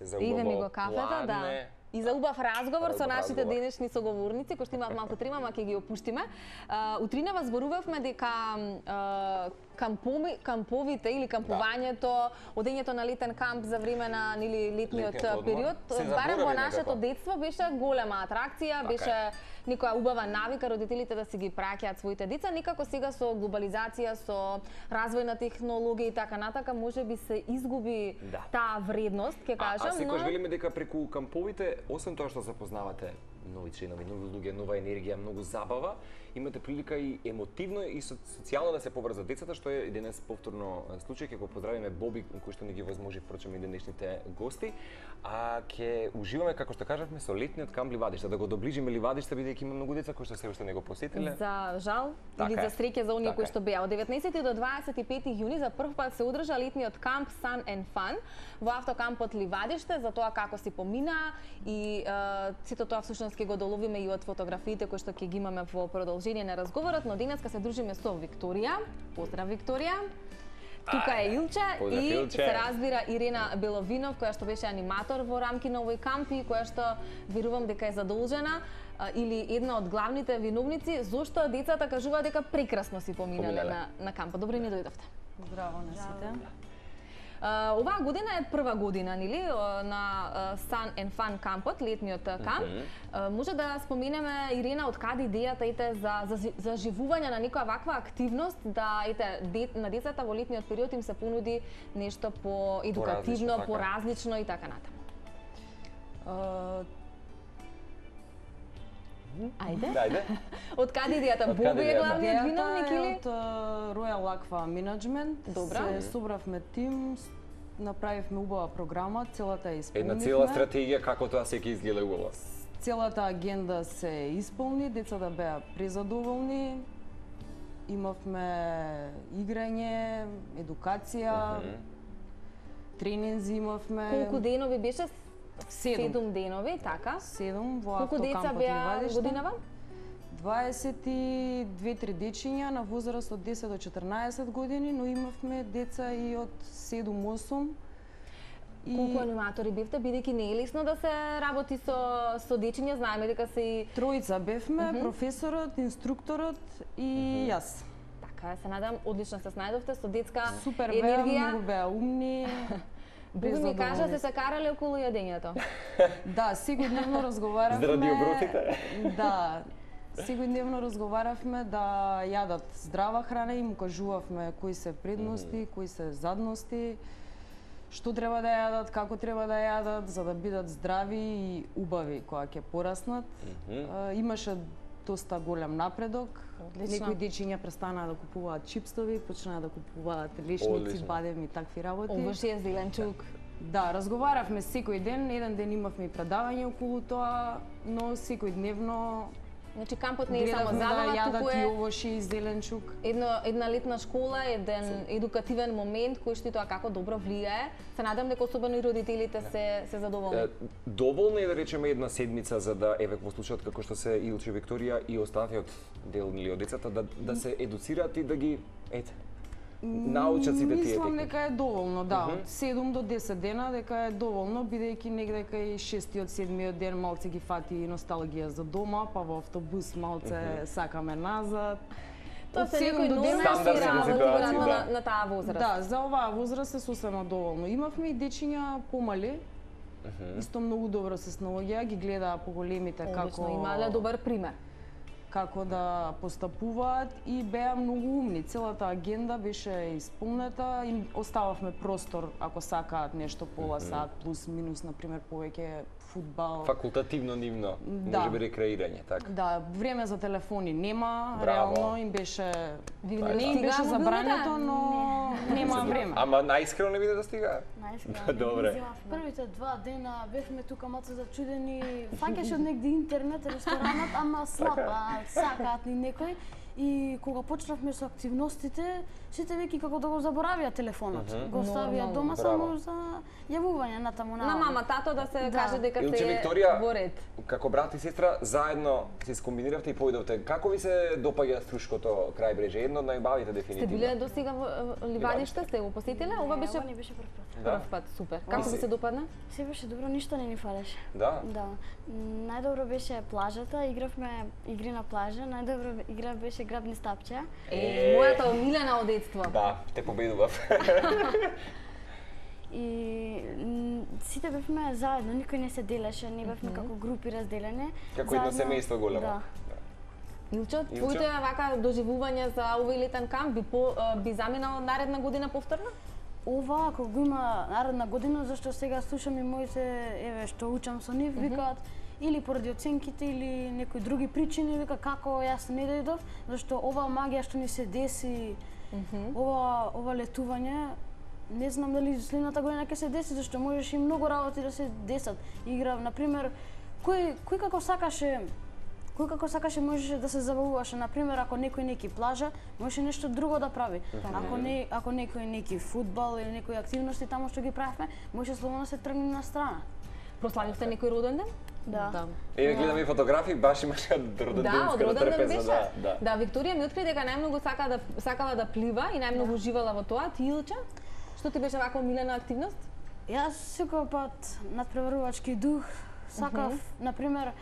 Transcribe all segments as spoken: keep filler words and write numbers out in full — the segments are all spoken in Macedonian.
се за Иде ми убаво го кафето, пладне. да. И за убав разговор со нашите разговор. денешни соговорници, кои што имаат малку трима, ама ќе ги опуштиме. Утринава зборувавме дека кампови, камповите или кампувањето, одењето на летен камп за време на нели летниот период, барем во нашето детство беше голема атракција, беше некоја убава навика родителите да си ги праќаат своите деца. Некако сега со глобализација, со развој на технологија и така натака, можеби се изгуби да. таа вредност, ќе кажам. А, а секојаш велиме дека преку камповите, освен тоа што запознавате нови членови, нови луѓе, нова енергија, многу забава, имате прилика и емотивно и социјално да се поврзат децата, што е денес повторно случај. Ќе го поздравиме Боби, кој што ни ги возможи впрочем и денешните гости. А ќе уживаме, како што кажавме, со летниот камп Ливадиште, да го доближиме Ливадиште, бидејќи има многу деца кои што се уште не го посетиле. За жал така или за среќа за оние така кои што беа. Од деветнаесети до дваесет и пети јуни за прв пат се одржа летниот камп Sun and Fun во автокампот Ливадиште, за тоа како си помина и е, сето тоа всушност ќе го доловиме и од фотографиите кои што ќе ги имаме во продолжение на разговорот, но денеска се дружиме со Викторија. Поздрав, Викторија. Тука е Илче Поздрав, и Илче. се разбира Ирена Беловинов, која што беше аниматор во рамки на овој камп и која што верувам дека е задолжена а, или една од главните виновници зошто децата кажуваат дека прекрасно си поминале, Поминале. на на кампот. Добро ни дојдовте. Здраво на сите. Uh, оваа година е прва година, нели, на uh, Sun and Fun кампот, летниот камп. Mm -hmm. uh, може да споменеме, Ирена, од каде идејата ете за за заживување на некоја ваква активност, да ете де, на децата во летниот период им се понуди нешто по едукативно, по поразлично и така натаму. Uh, Ајде. Ајде. Од каде идејата? Од каде Боби е идејата? главниот виновник Идејата е или? од uh, Royal Aqua Management. Добра. Се собравме тим, с- направивме убава програма, целата ја исполнивме. Една цела стратегија како тоа се ќе изгледа убаво. Целата агенда се исполни, децата беа презадоволни. Имавме играње, едукација, тренинзи имавме. Колку денови беше? Седум. Седум денови, така. Седум во Колку деца автокампот беа Ливадиште. годинава? дваесет и две три дечиња на возраст од десет до четрнаесет години, но имавме деца и од седум осум. И Колку аниматори бевте, бидејќи не е лесно да се работи со со дечиња, знаеме дека се и тројца бевме, професорот, инструкторот и јас. така, се надам одлично се снајдовте со детска Супер беа, енергија. многу беа умни. Боби ми кажа беззадоволни. се се карале околу јадењето. Да, секојдневно разговаравме. Заради обротите? Да. Секојдневно разговаравме да јадат здрава храна и му кажувавме кои се предности, кои се задности, што треба да јадат, како треба да јадат, за да бидат здрави и убави кога ќе пораснат. А, Имаше доста голем напредок. Одлично. Некои дечиња престанаа да купуваат чипстови, почнаа да купуваат лешници, Одлично. бадем и такви работи. Овошје зеленчук. Да, разговаравме секој ден, еден ден имавме и предавање околу тоа, но секојдневно Значи кампот не е само гледавме да забава, јадат туку и е овошје и зеленчук. едно една летна школа, еден едукативен момент кој што и тоа како добро влијае. Се надам дека особено и родителите се се задоволни. Е, Доволно е да речеме една седмица за да еве во случајот како што се Илче, Викторија и останатиот дел или од децата да да се едуцираат и да ги ете научат сите тие Мислам техники. дека е доволно, да, од седум до десет дена дека е доволно, бидејќи негде кај шестиот, седмиот ден малце ги фати носталгија за дома, па во автобус малце сакаме назад. Тоа Од се седум некои до нормални десет Стандардни работи ситуации, веројатно да. на, на таа возраст. Да, за оваа возраст е сосема доволно. Имавме и дечиња помали, исто многу добро се снаоѓаа, ги гледаа поголемите Одлично, како имале добар пример. како да постапуваат и беа многу умни. Целата агенда беше исполнета, им остававме простор ако сакаат нешто пола сат плюс минус, на пример повеќе фудбал. Факултативно нивно, Да. може би рекреирање, така. Да, време за телефони нема, Браво. реално им беше Ви не им стигаа беше мобилните? забрането, но нема време. Ама најискрено не биде да стига. Најскрено. Добре. Првите два дена бевме тука малце зачудени. Фаќаше од негде интернет, ресторанот, ама слаб, а сакаат ни некој. и кога почнавме со активностите, сите веќе како да го заборавија телефонот. Mm -hmm. Го оставија Нормално. дома Браво. само за јавување натаму На на мама, тато да се Да. каже дека Илче, се Викторија, во ред. како брат и сестра, заедно се скомбиниравте и поидовте. Како ви се допаѓа Струшкото крајбреже? Едно од најубавите Сте дефинитивно. биле до сега во во Ливадиште, сте го посетиле? Ова беше Ова не беше прв пат. Да. прв пат, супер. Како ви се допадна? Се беше добро, ништо не ни фалеше. Да? Да. М, Најдобро беше плажата, игравме игри на плажа, најдобро игра беше грабни стапче. Е, мојата омилена од детство. Да, те победував. И м, сите бевме заедно, никој не се делеше, не бевме како групи разделени. Како едно Заедно- семејство големо. Да. Илчо, твоите вака доживување за овој летен камп би по, а, би заминал наредна година повторно? Ова, ако го има наредна година, зашто сега слушам и моите, еве, што учам со нив, викаат, или поради оценките, или некои други причини, вика како јас не дојдов, зашто ова магија што ни се деси, ова, ова летување, не знам дали следната година ќе се деси, зашто можеш и многу работи да се десат. Игра, например, кој, кој како сакаше Кој како сакаше можеше да се забавуваше, например, ако некој неки плажа, можеше нешто друго да прави. Ако не ако некој неки фудбал или некои активности таму што ги правевме, можеше слободно се тргне на страна. Прославивте некој роден ден? Да. Еве гледам и фотографии, баш имаше роден Да, ден од скоро роден ден трпеза, беше. да, да. Да, Викторија ми откри дека најмногу сака да сакала да плива и најмногу уживала во тоа. Ти, Илче, што ти беше вака омилена активност? Јас секој пат надпреварувачки дух сакав, например,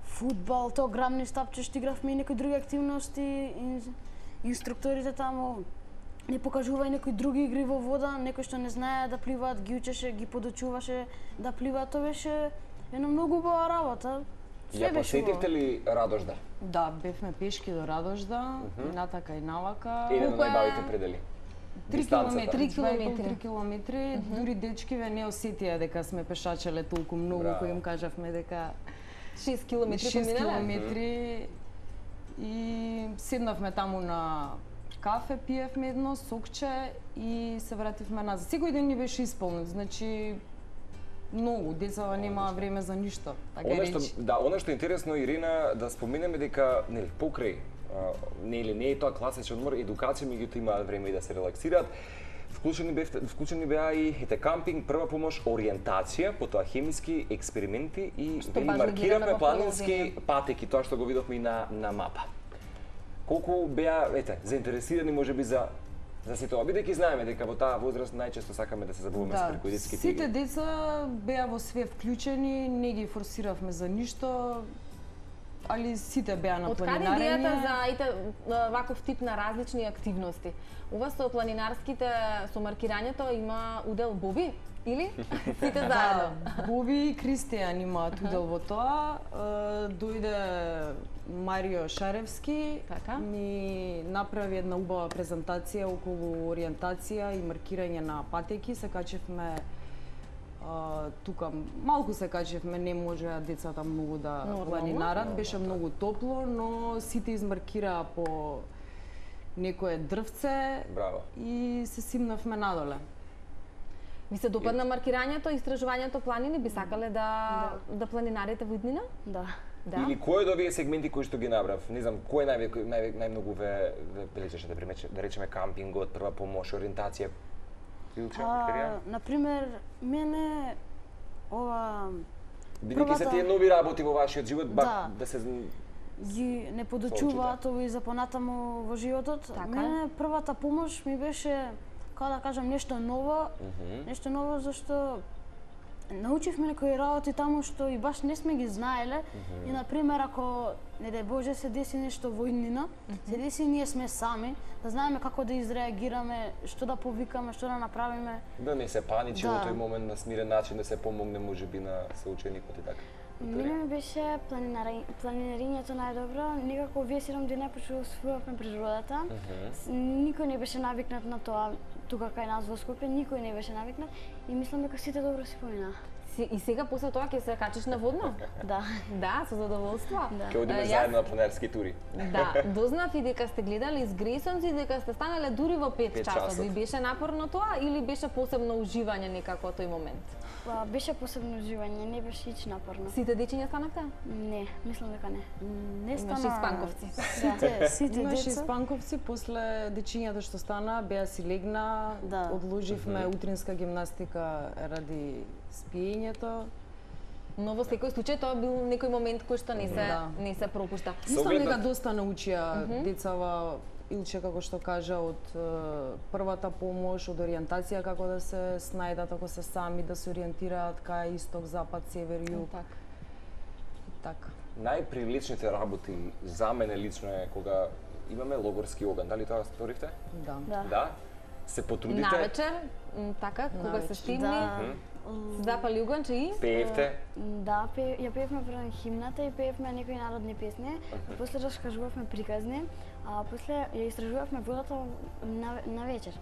фудбал, то грамни стапче што игравме и некои други активности, ин- инструкторите таму не покажувај некои други игри во вода, некои што не знаеа да пливаат, ги учеше, ги подучуваше да пливаат, тоа беше една многу убава работа. Све Ја беше посетивте убаво. ли Радожда? Да, бевме пешки до Радожда, и натака и навака. Еден од Колку е- најбавите предели. Три Дистанцата. километри, Три два и пол, километри. три километри. Дури дечкиве не осетија дека сме пешачеле толку многу, Браво. кои им кажавме дека шест километри шест поминале? километри и седнавме таму на кафе, пиевме едно сокче и се вративме назад. Секој ден ни беше исполнет, значи многу, децава немаа време за ништо, така Она што, речи. да, она што е интересно, Ирина, да споменеме дека, нели, покрај, а, нели, не е тоа класичен одмор, едукација, меѓутоа имаат време и да се релаксираат. Вклучени бевте, вклучени беа и ете кампинг, прва помош, ориентација, потоа хемиски експерименти и Што вели баш го маркираме гледаме во планински продолжение. патеки, тоа што го видовме и на на мапа. Колку беа, ете, заинтересирани можеби за за сето ова, бидејќи знаеме дека во таа возраст најчесто сакаме да се забавуваме со преку детските сите игри. деца беа во све вклучени, не ги форсиравме за ништо, али сите беа на Од каде планинарење. идејата за ите а, ваков тип на различни активности? Ова со планинарските, со маркирањето има удел Боби? Или? Сите заедно? Да, Боби и Кристијан имаат удел во тоа. Е, Дојде Марио Шаревски, Така. ми направи една убава презентација околу ориентација и маркирање на патеки. Се качевме а, тука, малку се качевме, не можеа децата многу да Нормално. планинарат, беше многу топло, но сите измаркираа по некое дрвце Браво. и се симнавме надоле. Ви се допадна маркирањето, истражувањето планини? Би сакале да да планинарите во иднина? Да. Да. Или кој од овие сегменти кои што ги набрав, не знам, кој нај, нај, најмногу ве, ве бележеше да, примече, да речеме кампингот, прва помош, ориентација? Илче, Викторија? А, например, мене ова Бидејќи се првата- тие нови работи во вашиот живот, ба, Да. да се ги не подучуваат ови за понатаму во животот. Така. Мене првата помош ми беше, како да кажам, нешто ново, нешто ново зашто научивме некои работи таму што и баш не сме ги знаеле. И на пример ако не дај Боже се деси нешто во иднина, се деси ние сме сами, да знаеме како да изреагираме, што да повикаме, што да направиме. да не се паничи во Да. тој момент на смирен начин да се помогне можеби на соученикот и така. Мене ми беше планинари... планинарињето најдобро. Некако вие седум дена почувствувавме природата. С- Никој не беше навикнат на тоа тука кај нас во Скопје, никој не беше навикнат и мислам дека сите добро си помина. Се- И сега после тоа ќе се качиш на водно? Да. Да, со задоволство. Да. Ќе одиме Е, јас- заедно на планерски тури. Да, дознав и дека сте гледали с Грейсонс и дека сте станале дури во пет Пет часот. часот. Ви беше напорно тоа или беше посебно уживање некако тој момент? Па, беше посебно уживање, не беше ич напорно. Сите дечиња станавте? Не, мислам дека не. Не Имаш стана... испанковци. Сите, сите Имаше деца. испанковци, после дечињата што стана, беа си легна, Да. одложивме утринска гимнастика ради спиењето. Но во секој случај тоа бил некој момент кој што не се Да. не се пропушта. Мислам оглед дека на- доста научија децава Илче, како што кажа, од е, првата помош, од ориентација, како да се снајдат ако се сами, да се ориентираат кај исток, запад, север, југ. Така. Така. Најпривлечните работи за мене лично е кога имаме логорски оган. Дали тоа сторивте? Да. Да. Да. Се потрудите, Навечер, м, така, кога се Навечер. стимни, Да. се запали уганче и пеевте. Да, пе, ја пеевме прво химната и пеевме некои народни песни, а после раскажувавме приказни, а после ја истражувавме водата на, на вечер.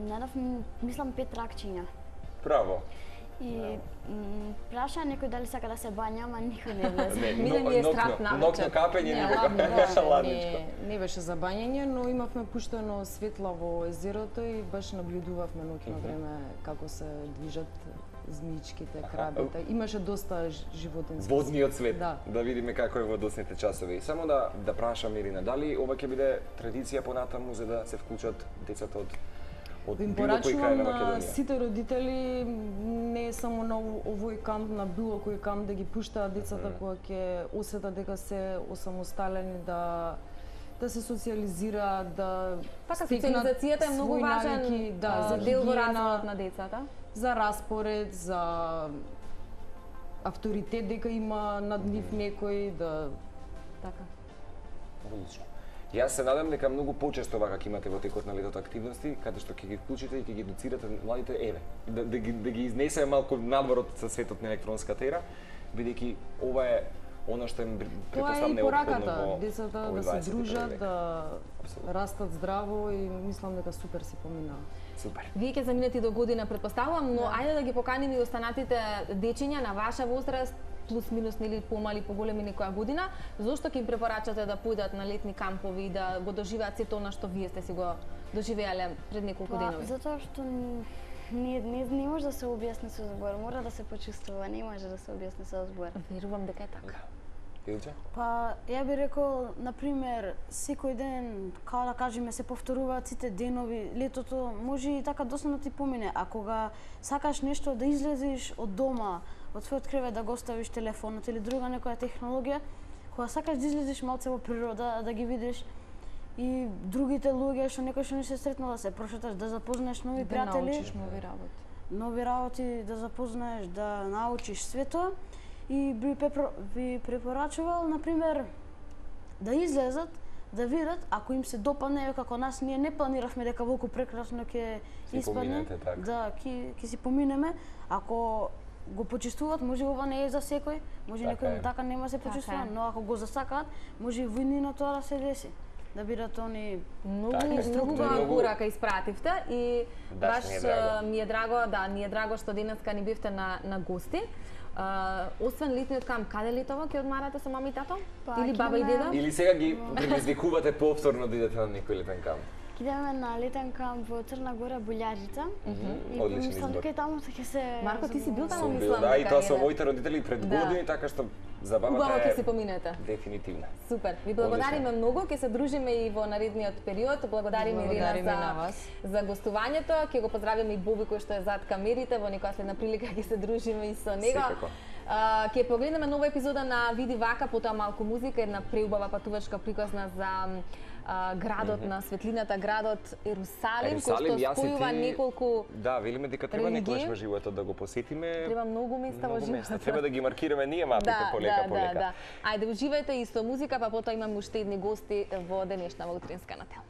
Надав, мислам, пет ракчиња. Браво. И м, праша некој дали сака да се бања, ама никој не влезе. Не, Мене ми е ноќно- страх навечер. Ноќно капење Не, никога. ладно, да, Ладничко. Не, не беше за бањење, но имавме пуштено светла во езерото и баш наблюдувавме ноќно време како се движат змиичките, крабите. Имаше доста ж- животински. Водниот свет. Да. Да видиме како е во досните часови. И само да да прашам Ирина, дали ова ќе биде традиција понатаму за да се вклучат децата од од Им било кој крај порачувам на на Македонија? сите родители, не само на ово- овој камп, на било кој камп да ги пуштаат децата кога ќе осетат дека се осамосталени, да да се социализираат, да Така, стекнат социализацијата е многу свои важен навики, да, а, за дел во хигиена, развојот на децата. за распоред, за авторитет дека има над нив некој, да Така. Одлично. Јас се надам дека многу почесто вака ќе имате во текот на летото активности, каде што ќе ги вклучите и ќе ги едуцирате младите, еве, да, да, ги, да ги изнесеме малку надвор од светот на електронската ера, бидејќи ова е она што им тоа е претпоставам и неопходно пораката, во децата овој да се дваесети први дружат, век. да Апсолутно. растат здраво и мислам дека супер си поминаа. Супер. Вие ќе заминете до година, претпоставувам, но ајде да ги поканим и останатите дечиња на ваша возраст, плюс минус нели помали, поголеми некоја година, зошто ќе им препорачате да појдат на летни кампови и да го доживеат сето она што вие сте си го доживеале пред неколку Па, денови? затоа што н- не, не, не може да се објасни со збор, мора да се почувствува, не може да се објасни со збор. Верувам дека е така. Илче? Па, ја би рекол, например, секој ден, као да кажеме, се повторуваат сите денови, летото може и така доста да ти помине, а кога сакаш нешто да излезеш од дома, од својот кревет да го оставиш телефонот или друга некоја технологија, кога сакаш да излезеш малце во природа, да ги видиш и другите луѓе што некој што не се сретнал, да се прошеташ, да запознаеш нови Да пријатели, научиш нови работи. нови работи, да запознаеш, да научиш све тоа. И би, пепро, би препорачувал, например, да излезат, да видат, ако им се допадне, како нас, ние не планиравме дека волку прекрасно ќе Си испадне. поминете, така. Да, ќе ќе си поминеме. Ако го почувствуваат, може ова не е за секој, може Така некој е. така нема се Така почувствува, е. но ако го засакаат, може и во иднина тоа да се деси. Да бидат они Многу, Така е, многу структурно. убава порака испративте и Баш баш ми е драго. а, ми е драго, да, ни е драго што денеска ни бевте на на гости. А, освен летниот камп, каде летово ќе одмарате со мама и тато? Па, Или ќе баба и идеме- деда? Или сега ги предизвикувате повторно да идете на некој летен камп? Идеме на летен камп во Црна Гора, Булјарджица. И Одличен мислам избор. дека и таму ќе се Марко, ти си бил таму, Сум бил, мислам да, и дека тоа е, со да. моите родители пред Да. години, така што Убаво забавата ќе е си поминете. дефинитивна. Супер. Ви благодариме Одлично. многу, ќе се дружиме и во наредниот период. Благодариме Ирина Благодариме за на вас. за гостувањето. Ќе го поздравиме и Боби кој што е зад камерите, во некоја следна прилика ќе се дружиме и со него. Секако. А, ќе погледнеме нова епизода на Види вака, потоа малку музика, една преубава патувачка приказна за а, градот на светлината, градот Ерусалим, кој што јас и спојува ти- неколку Да, велиме дека треба религии. некогаш во животот да го посетиме. треба многу места во Многу места. животот. Треба да ги маркираме ние мапите полека да, полека. Да, да. Ајде, уживајте и со музика, па потоа имаме уште едни гости во денешна во утринска на тел.